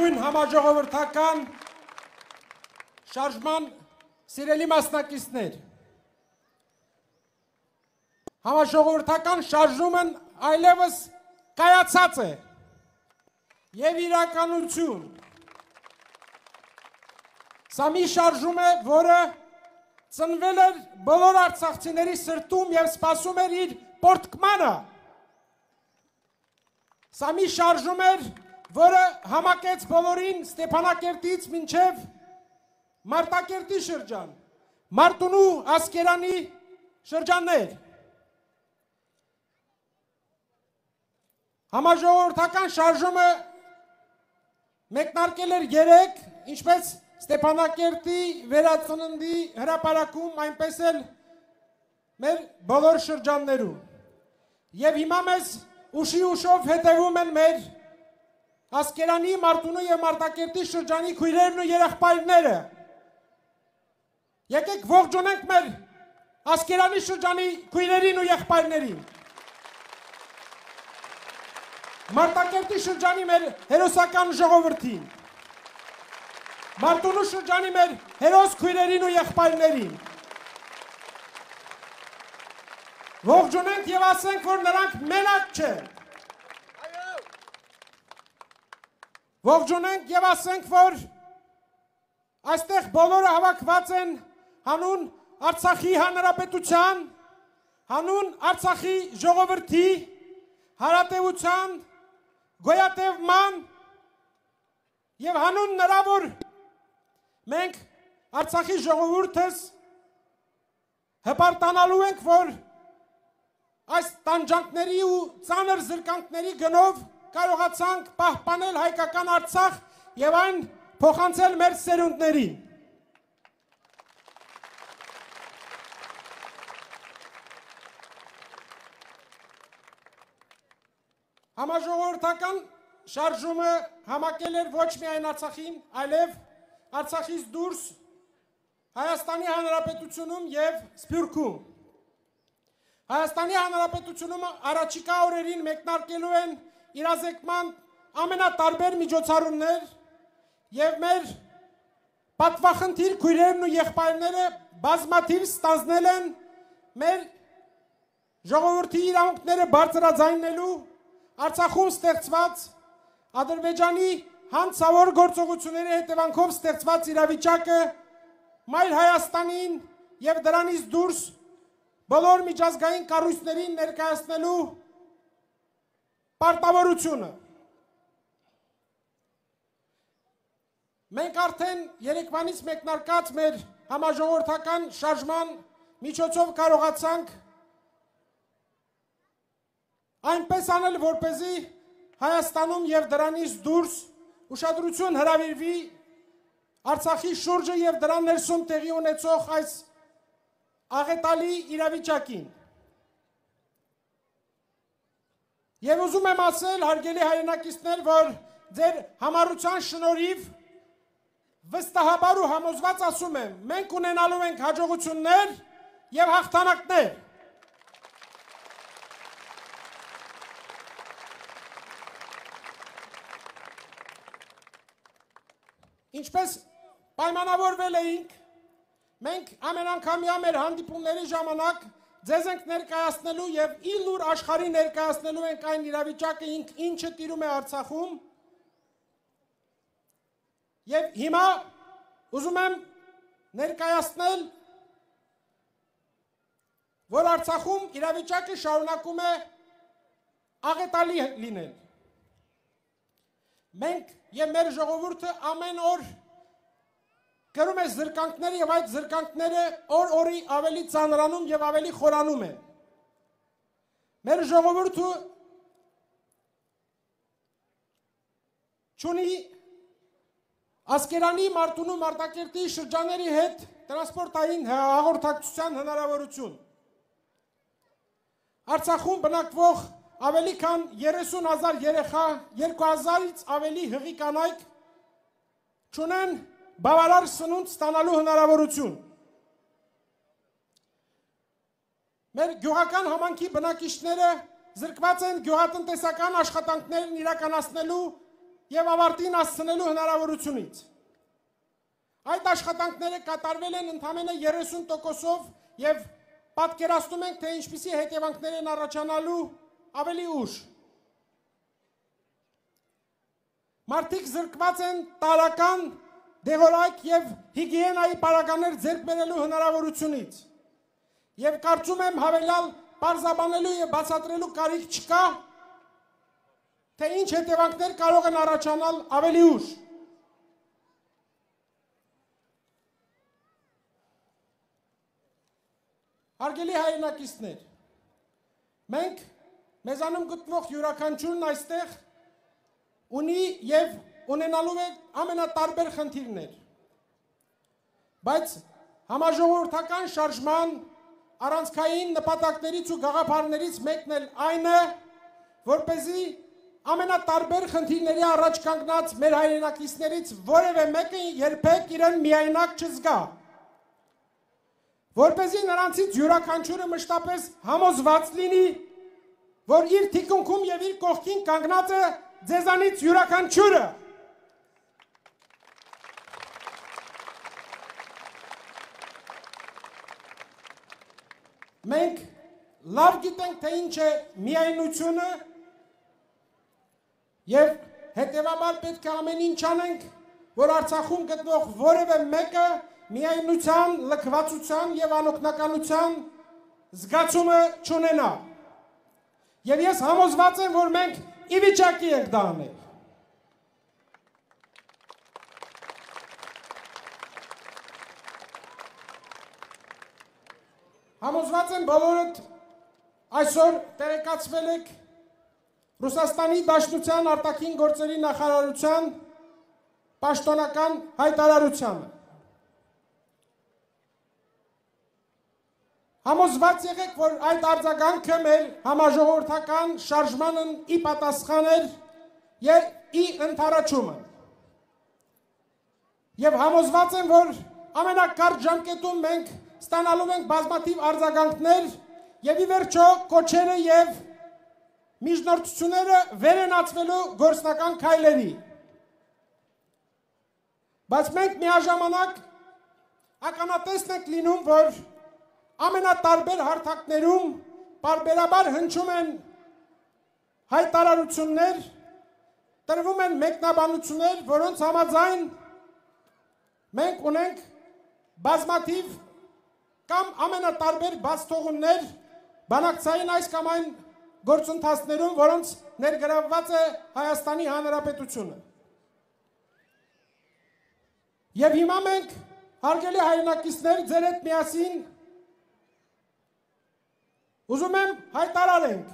Ողջույն համաժողովրդական շարժման սիրելի մասնակիցներ, համաժողովրդական շարժումն այլևս կայացած է և իրականություն։ Սա մի շարժում է, որը ծնվել էր բոլոր արցախցիների սրտում և սպասում էր իր պորտկմանը։ Սա մի շարժում էր, որը համակեց բոլորին Ստեփանակերտից մինչև Մարտակերտի շրջան, Մարտունու Ասկերանի շրջաններ։ Համաժողովրդական շարժումը մեկնարկել էր 3, ինչպես Ստեփանակերտի վերածննդի հրապարակում, այնպես էլ մեր բոլոր շրջաններում։ Եվ հիմա մեզ ուշի ուշով հետևում են մեր Ասկերանի, Մարտունու և Մարտակերտի շրջանի քույրերն ու երեխբայրները։ Եկեք ողջունենք մեր Ասկերանի շրջանի քույրերին ու եղբայրներին։ Մարտակերտի շրջանի մեր հերոսական ժողովրդին։ Մարտունու շրջանի մեր հերոս քույրերին ու եղբայրներին։ Ողջունենք և ասենք, որ նրանք մենակ չեն։ Ողջունենք և ասենք, որ այստեղ բոլորը հավաքված են հանուն Արցախի Հանրապետության, հանուն Արցախի ժողովրդի, հարատևության, գոյատևման և հանուն նրա, որ մենք Արցախի ժողովուրդս հպարտանալու ենք, որ այս տանջանքների ու ծանր զրկանքների գնով կարողացանք պահպանել հայկական Արցախ և այն փոխանցել մեր սերունդներին։ Համաժողովրդական շարժումը համակել էր ոչ միայն Արցախին, այլև Արցախից դուրս Հայաստանի Հանրապետությունում և Սփյուռքում։ Հայաստանի Հանրապետությունում առաջիկա օրերին մեկնարկելու են իրազեկման ամենատարբեր միջոցառումներ և մեր պատվախնդիր քույրերն ու եղբայրները բազմաթիվ ստանձնել են մեր ժողովրդի իրավունքները բարձրաձայնելու Արցախում ստեղծված Ադրբեջանի հանցավոր գործողությունների հետևանքով ստեղծված իրավիճակը մայր Հայաստանին և դրանից դուրս բոլոր միջազգային կառույցներին ներկայացնելու պարտավորությունը։ Մենք արդեն երեկվանից մեկնարկած մեր համաժողովրդական շարժման միջոցով կարողացանք այնպես անել, որպեսզի Հայաստանում և դրանից դուրս ուշադրություն հրավիրվի Արցախի շուրջը և դրան ներսում տեղի ունեցող այս աղետալի իրավիճակին։ Եվ ուզում եմ ասել, հարգելի հայրենակիցներ, որ ձեր համառության շնորհիվ վստահաբար ու համոզված ասում եմ, մենք ունենալու ենք հաջողություններ և հաղթանակներ։ Ինչպես պայմանավորվել էինք, մենք ամեն անգամյա մեր հանդիպումների ժամանակ ձեզ ենք ներկայացնելու և իլուր աշխարհի ներկայացնելու ենք այն իրավիճակը, ինչը տիրում է Արցախում։ Եվ հիմա ուզում եմ ներկայացնել, որ Արցախում իրավիճակը շարունակում է աղետալի լինել։ Մենք և մեր ժողովուրդը ամեն օր կրում է զրկանքները և այդ զրկանքները օր-օրի ավելի ծանրանում և ավելի խորանում են։ Մեր ժողովուրդը չունի Ասկերանի, Մարտունու, Մարտակերտի շրջանների հետ տրանսպորտային հաղորդակցության հնարավորություն։ Արցախում բնակվող ավելի քան 30,000 երեխա, 2,000-ից ավելի հղի կանայք չունեն բավարար սնունդ ստանալու հնարավորություն։ Մեր գյուղական համայնքի բնակիչները զրկված են գյուղատնտեսական աշխատանքներն իրականացնելու եւ ավարտին հասցնելու հնարավորությունից։ Այդ աշխատանքները կատարվել են ընդամենը 30%-ով եւ պատկերացնում ենք, թե ինչպիսի հետևանքներ են առաջանալու ավելի ուշ։ Մարդիկ զրկված են տարական, դեղորայք եւ հիգիենայի պարագաներ ձեռք բերելու հնարավորությունից։ Եվ կարծում եմ հավելյալ պարզաբանելու եւ բացատրելու կարիք չկա, թե ինչ հետևանքներ կարող են առաջանալ ավելի ուշ։ Հարգելի հայրենակիցներ, մենք մեզանում գտնվող յուրաքանչյուրն այստեղ ունի եւ ունենալու է ամենատարբեր խնդիրներ, բայց համաժողովրդական շարժման առանցքային նպատակներից ու գաղափարներից մեկն էլ այն է, որպեսզի ամենատարբեր խնդիրների առաջ կանգնած մեր հայրենակիցներից որևէ մեկը երբեք իրեն միայնակ չզգա, որպեսզի նրանցից յուրաքանչյուրը մշտապես համոզված լինի, որ իր թիկունքում եւ իր կողքին կանգնած է ձեզանից յուրաքանչյուրը։ Մենք լավ գիտենք, թե ինչ է միայնությունը եւ հետեւաբար պետք է ամեն ինչ անենք, որ Արցախում գտնվող որևէ մեկը միայնության, լքվածության եւ անօգնականության զգացումը չունենա։ Եվ ես համոզված եմ, որ մենք ի վիճակի ենք դա անել։ Համոզված եմ բոլորդ այսօր տեղեկացվել եք Ռուսաստանի Դաշնության արտաքին գործերի նախարարության պաշտոնական հայտարարությանը։ Համոզված եղեք, որ այդ արձագանքը մեր համաժողովրդական շարժմանն ի պատասխան էր եւ ի ընդառաջումը։ Եվ համոզված եմ, որ ամենակարճ ժամկետում մենք ստանալու ենք բազմաթիվ արձագանքներ եւ ի վերջո կոչերը եւ միջնորդությունները վերենացվելու գործնական քայլերի։ Բայց մենք միաժամանակ ականատեսն ենք լինում, որ ամենատարբեր հարթակներում պարբերաբար հնչում են հայտարարություններ, տրվում են մեկնաբանություններ, որոնց համաձայն մենք ունենք բազմաթիվ կամ ամենատարբեր բացթողումներ բանակցային այս կամ այն գործընթացներում, որոնց ներգրավված է Հայաստանի Հանրապետությունը։ Եվ հիմա մենք, հարգելի հայրենակիցներ, ձեր հետ միասին ուզում եմ հայտարարենք,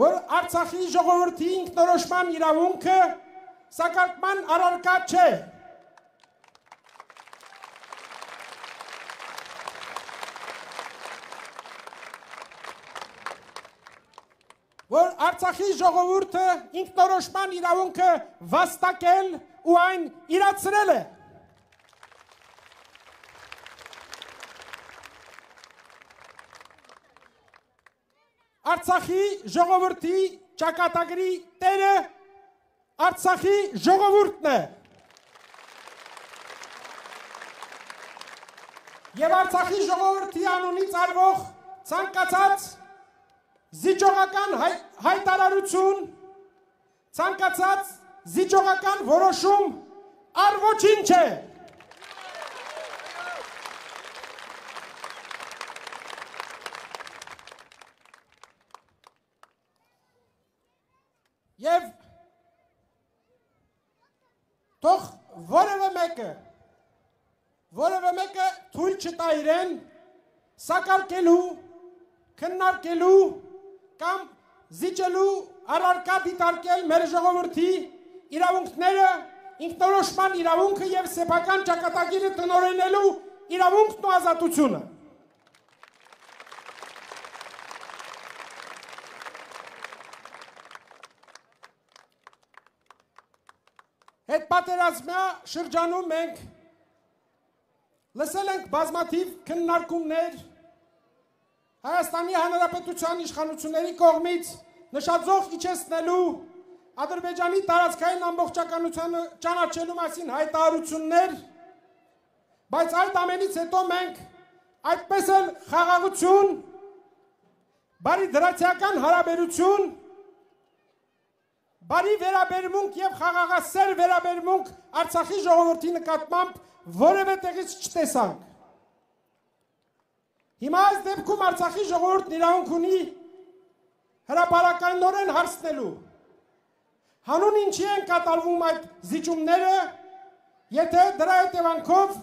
որ Արցախի ժողովրդի ինքնորոշման իրավունքը սակարկման առարկա չէ։ Որ Արցախի ժողովուրդը ինքնորոշման իրավունքը վաստակել ու այն իրացրել է։ Արցախի ժողովրդի ճակատագրի տերը Արցախի ժողովուրդն է։ Եվ Արցախի ժողովրդի անունից արվող ցանկացած զիջողական հայտարարություն, ցանկացած զիջողական որոշում առ ոչինչ է։ Եվ թող որևէ մեկը թույլ չտա իրեն սակարկելու, քննարկելու կամ զիջելու առարկա դիտարկել մեր ժողովրդի իրավունքները, ինքնորոշման իրավունքը եւ սեփական ճակատագիրը տնօրինելու իրավունքն ու ազատությունը։ Հետպատերազմյա շրջանում մենք լսել ենք բազմաթիվ քննարկումներ Հայաստանի Հանրապետության իշխանությունների կողմից նշաձող իջեցնելու, Ադրբեջանի տարածքային ամբողջականությունը ճանաչելու մասին հայտարարություններ, բայց այդ ամենից հետո մենք այդպես էլ խաղաղություն, բարի դրացիական հարաբերություն, բարի վերաբերմունք եւ խաղաղասեր վերաբերմունք Արցախի ժողովրդի նկատմամբ որևէ տեղից չտեսանք։ Հիմա այս դեպքում Արցախի ժողովուրդն իրավունք ունի հրապարակայնորեն հարցնելու, հանուն ինչի են կատարվում այդ զիջումները, եթե դրա հետևանքով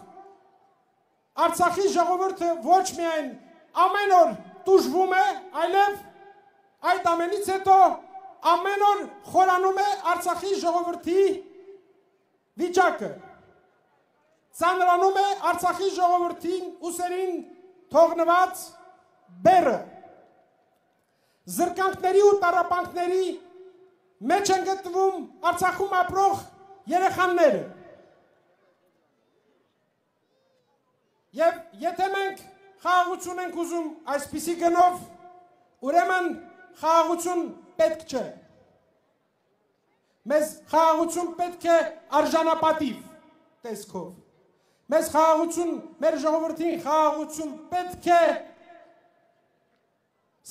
Արցախի ժողովուրդը ոչ միայն ամեն օր տուժվում է, այլև այդ ամենից հետո ամեն օր խորանում է Արցախի ժողովրդի վիճակը, ծանրանում է Արցախի ժողովրդին ուսերին թողնված բեռը, զրկանքների ու տառապանքների մեջ են գտնվում Արցախում ապրող երեխաները։ Եվ եթե մենք խաղաղություն ենք ուզում այսպիսի գնով, ուրեմն խաղաղություն պետք չէ։ Մեզ խաղաղություն պետք է արժանապատիվ տեսքով։ Մեզ խաղաղություն, մեր ժողովրդին խաղաղություն պետք է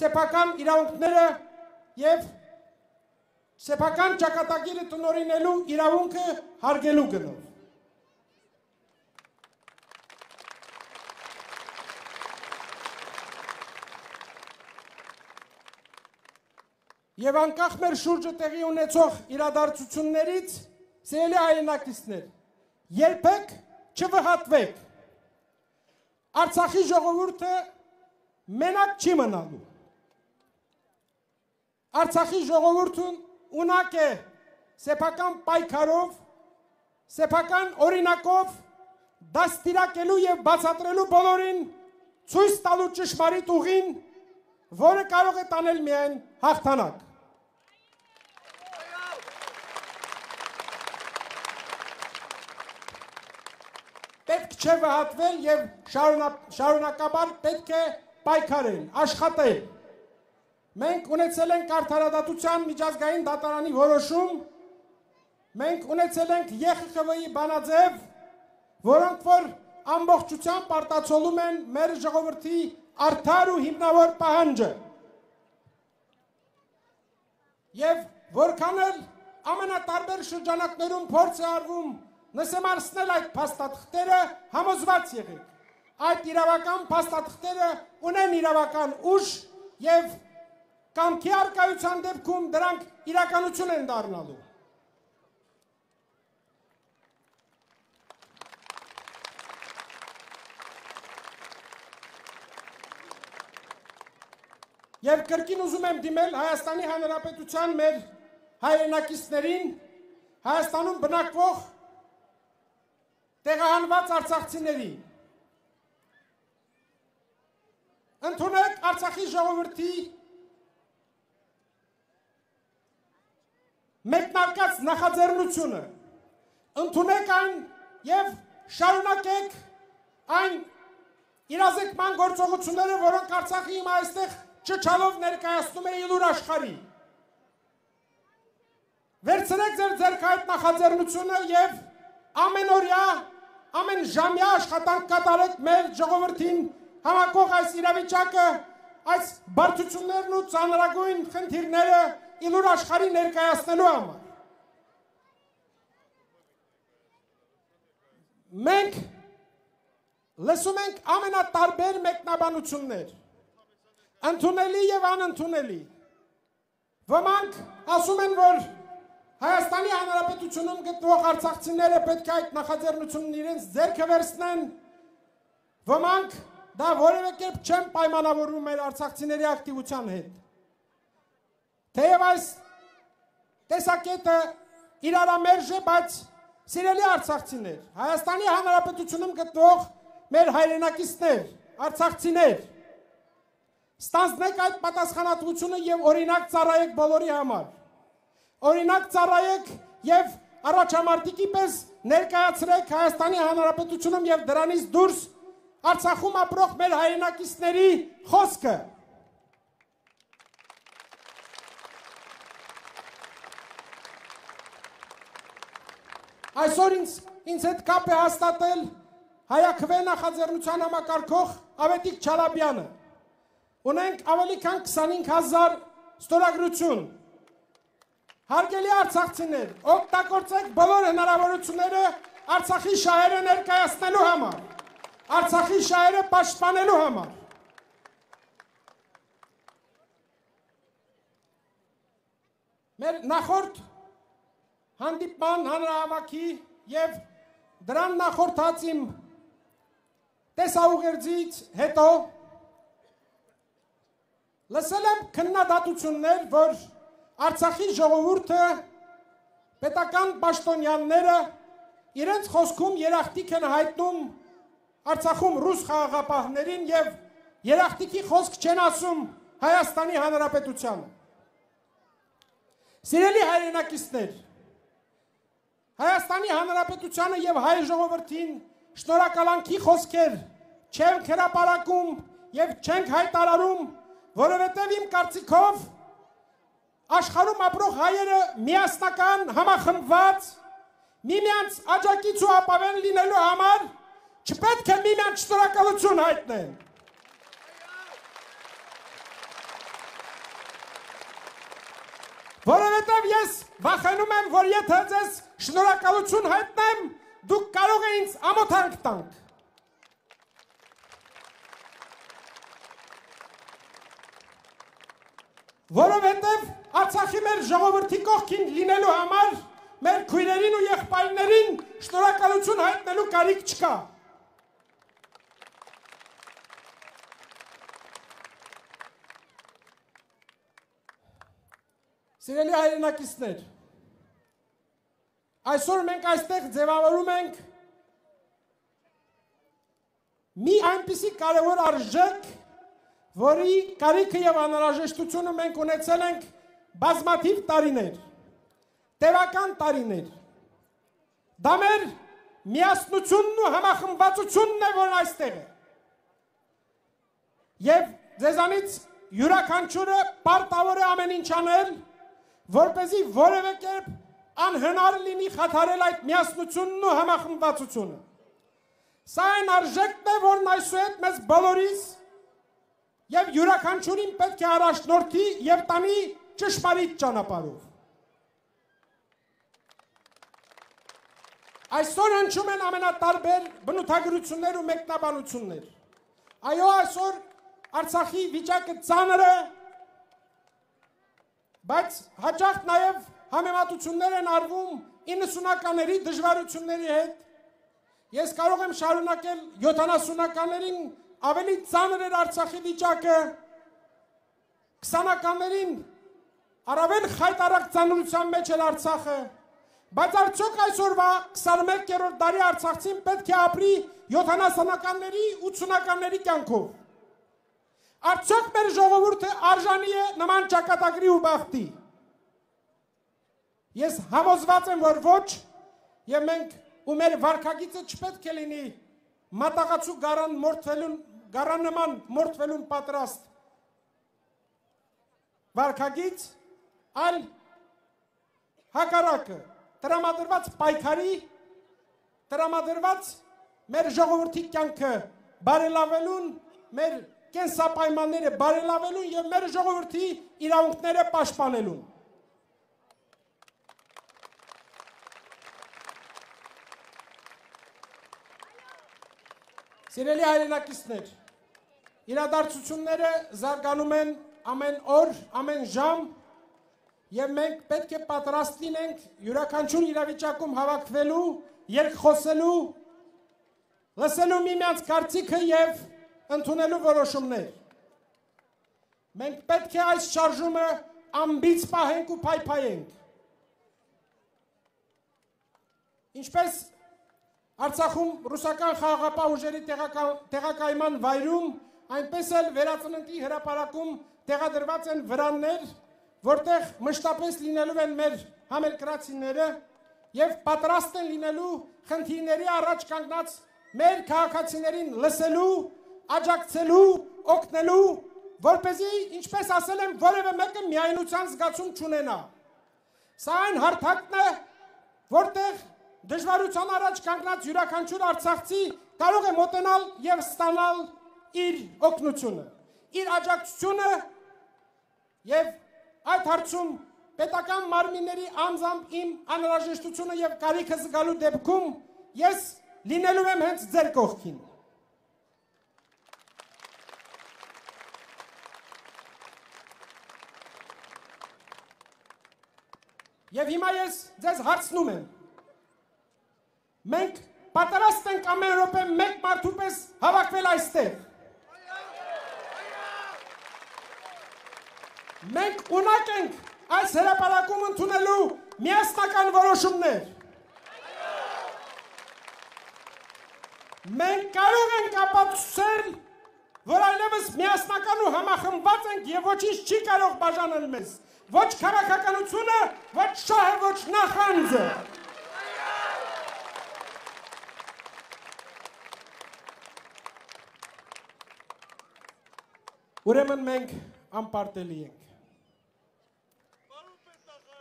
սեփական իրավունքները եւ սեփական ճակատագիրը տնօրինելու իրավունքը հարգելու գնով։ Եվ անկախ մեր շուրջը տեղի ունեցող իրադարձություններից, սիրելի հայրենակիցներ, երբեք չվհատվեք։ Արցախի ժողովուրդը մենակ չի մնալու։ Արցախի ժողովուրդն ունակ է սեփական պայքարով, սեփական օրինակով դաստիարակելու եւ բացատրելու բոլորին, ցույց տալու ճշմարիտ ուղին, որը կարող է տանել միայն հաղթանակ։ Պետք չէ վհատվել եւ շարունակաբար պետք է պայքարել, աշխատել։ Մենք ունեցել ենք արդարադատության միջազգային դատարանի որոշում, մենք ունեցել ենք ԵԽԽՎ-ի բանաձև, որոնք որ ամբողջությամբ արտացոլում են մեր ժողովրդի արդար ու հիմնավոր պահանջը։ Եվ որքան էլ ամենատարբեր շրջանակներում փորձ է արվում նսեմացնել այդ փաստաթղթերը, համոզված եղեք։ Այդ իրավական փաստաթղթերը ունեն իրավական ուժ եւ կամքի արկայության դեպքում դրանք իրականություն են դառնալու։ Եվ կրկին ուզում եմ դիմել Հայաստանի Հանրապետության մեր հայրենակիցներին, Հայաստանում բնակվող տեղահանված արցախցիներին։ Ընդունեք Արցախի ժողովրդի մեկնարկած նախաձեռնությունը, ընդունեք այն եւ շարունակեք այն իրազեկման գործողությունները, որոնք Արցախի հիմա այստեղ չչալով ներկայացնում է ելուր աշխարհի։ Վերցրեք ձեր ձեռք այդ նախաձեռնությունը եւ ամենօրյա, ամեն ժամյա աշխատանք կատարեք մեր ժողովրդին համակող այս իրավիճակը, այս բարդություններն ու ծանրագույն խնդիրները ելուր աշխարհի ներկայացնելու համար։ Մենք լսում ենք ամենատարբեր մեկնաբանություններ, ընդունելի եւ անընդունելի։ Ոմանք ասում են, որ Հայաստանի Հանրապետությունում գտնվող արցախցիները պետք է այդ նախաձեռնությունն իրենց ձեռքը վերցնեն։ Ոմանք դա որևէ կերպ չեն պայմանավորվում մեր արցախցիների ակտիվության հետ։ Թեև այս տեսակետը իրարամերժ է, բայց սիրելի արցախցիներ, Հայաստանի Հանրապետությունում գտնվող մեր հայրենակիցներ, արցախցիներ, ստանձնեք այդ պատասխանատվությունը եւ օրինակ ծառայեք բոլորի համար։ Օրինակ ծառայեք եւ առաջամարտիկի պես ներկայացրեք Հայաստանի Հանրապետությունում եւ դրանից դուրս Արցախում ապրող մեր հայրենակիցների խոսքը։ Այսօր ինձ հետ կապ է հաստատել Հայաքվե նախաձեռնության համակարգող Ավետիք Չալաբյանը։ Ունենք ավելի քան 25,000 ստորագրություն։ Հարգելի արցախցիներ, օգտագործեք բոլոր հնարավորությունները Արցախի շահերը ներկայացնելու համար, Արցախի շահերը պաշտպանելու համար։ Մեր նախորդ հանդիպման հանրահավաքի և դրան նախորդած իմ տեսաուղերձից հետո լսել եմ քննադատություններ, որ Արցախի ժողովուրդը, պետական պաշտոնյաները իրենց խոսքում երախտիկ են հայտնում Արցախում ռուս խաղաղապահներին և երախտիկի խոսք չեն ասում Հայաստանի Հանրապետությանը։ Սիրելի հայրենակիցներ, Հայաստանի Հանրապետությանը և հայ ժողովրդին շնորհակալանքի խոսքեր չենք հրապարակում և չենք հայտարարում, որովհետև իմ կարծիքով աշխարհում ապրող հայերը միասնական, համախմբված, միմյանց աջակից ու ապավեն լինելու համար չպետք է միմյանց շնորհակալություն հայտնեն։ Որովհետև ես վախենում եմ, որ եթե ձեզ շնորհակալություն հայտնեմ, դուք կարող եք ինձ ամոթանք տանք։ Որովհետև Արցախի մեր ժողովրդի կողքին լինելու համար մեր քույրերին ու եղբայրներին շնորհակալություն հայտնելու կարիք չկա։ Սիրելի հայրենակիցներ, այսօր մենք այստեղ ձևավորում ենք մի այնպիսի կարևոր արժեք, որի կարիքը և անհրաժեշտությունը մենք ունեցել ենք բազմաթիվ տարիներ, տևական տարիներ։ Դա մեր միասնությունն ու համախմբվածությունն է, որ այստեղ է։ Եվ ձեզանից յուրաքանչյուրը պարտավոր է ամեն ինչ անել, որպեսզի որևէ կերպ անհնար լինի խաթարել այդ միասնությունն ու համախմբվածությունը։ Սա այն արժեքն է, որն այսուհետ մեզ բոլորիս և յուրաքանչյուրին պետք է առաջնորդի և տանի ճշմարիտ ճանապարհով։ Այսօր հնչում են ամենատարբեր բնութագրություններ ու մեկնաբանություններ։ Այո, այսօր Արցախի վիճակը ծանր է, բայց հաճախ նաև համեմատություններ են արվում 90-ականների դժվարությունների հետ։ Ես կարող եմ շարունակել 70-ականներին ավելի ծանր էր Արցախի վիճակը, 20-ականներին առավել խայտառակ ծանրության մեջ էր Արցախը, բայց արդյոք այսօրվա 21-րդ դարի արցախցին պետք է ապրի 70-ականների, 80-ականների կյանքով։ Արդյոք մեր ժողովուրդը արժանի է նման ճակատագրի ու բախտի։ Ես համոզված եմ, որ ոչ, և մենք ու մեր վարքագիծը չպետք է լինի մատաղացու գարան նման մորթվելուն պատրաստ վարքագիծ, այլ հակառակը, տրամադրված պայքարի, տրամադրված մեր ժողովրդի կյանքը բարելավելուն, մեր կենսապայմանները բարելավելուն և մեր ժողովրդի իրավունքները պաշտպանելուն։ Սիրելի հայրենակիցներ, իրադարձությունները զարգանում են ամեն օր, ամեն ժամ, և մենք պետք է պատրաստ լինենք յուրաքանչյուր իրավիճակում հավաքվելու, երկխոսելու, լսելու միմյանց կարծիքը և ընդունելու որոշումներ։ Մենք պետք է այս շարժումը ամբից պահենք ու փայփայենք։ Ինչպես Արցախում ռուսական խաղաղապահ ուժերի տեղակայման վայրում, այնպես էլ Վերածննդի հրապարակում տեղադրված են վրաններ, որտեղ մշտապես լինելու են մեր համերկրացիները և պատրաստ են լինելու խնդիրների առաջ կանգնած մեր քաղաքացիներին լսելու, աջակցելու, օգնելու, որպեսզի, ինչպես ասել եմ, որևէ մեկը միայնության զգացում չունենա։ Սա այն հարթակն է, որտեղ դժվարության առաջ կանգնած յուրաքանչյուր արցախցի կարող է մոտենալ եւ ստանալ իր օգնությունը, իր աջակցությունը եւ այդ հարցում պետական մարմինների անձամբ իմ անհրաժեշտությունը եւ կարիքը զգալու դեպքում ես լինելու եմ հենց ձեր կողքին։ Եվ հիմա ես ձեզ հարցնում եմ, մենք պատրաստ ենք ամեն րոպե մեկ մարդու պես հավաքվել այստեղ։ Մենք ունակ ենք այս հրապարակում ընդունելու միասնական որոշումներ։ Մենք կարող ենք ապացուցել, որ այլևս միասնական ու համախմբված ենք եւ ոչինչ չի կարող բաժանել մեզ։ Ոչ քաղաքականությունը, ոչ շահը, ոչ նախանձը։ Ուրեմն մենք անպարտելի ենք։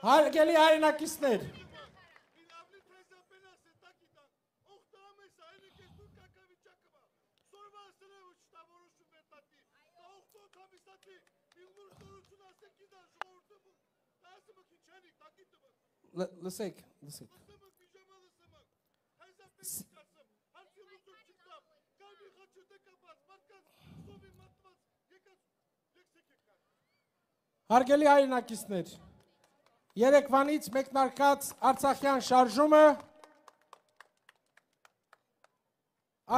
Հարգելի հայրենակիցներ, լսեք։ Հարգելի հայրենակիցներ, երեկվանից մեկնարկած Արցախյան շարժումը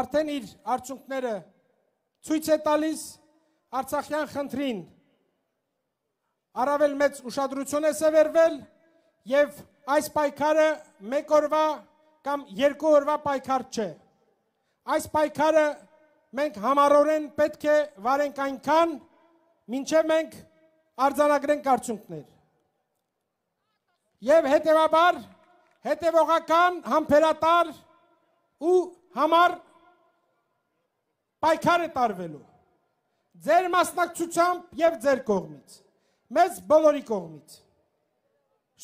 արդեն իր արդյունքները ցույց է տալիս Արցախյան խնդրին առավել մեծ ուշադրություն է սևեռվել եւ այս պայքարը մեկ օրվա կամ երկու օրվա պայքար չէ։ Այս պայքարը մենք համառորեն պետք է վարենք այնքան, մինչև մենք արձանագրենք արդյունքներ։ Եվ հետևաբար հետևողական, համբերատար ու համառ պայքար է տարվելու ձեր մասնակցությամբ եւ ձեր կողմից, մեզ բոլորի կողմից։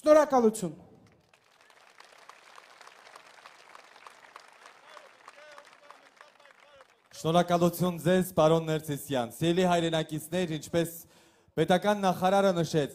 Շնորհակալություն։ Շնորհակալություն ձեզ, պարոն Ներսիսյան։ Սիրելի հայրենակիցներ, ինչպես պետական նախարարը նշեց,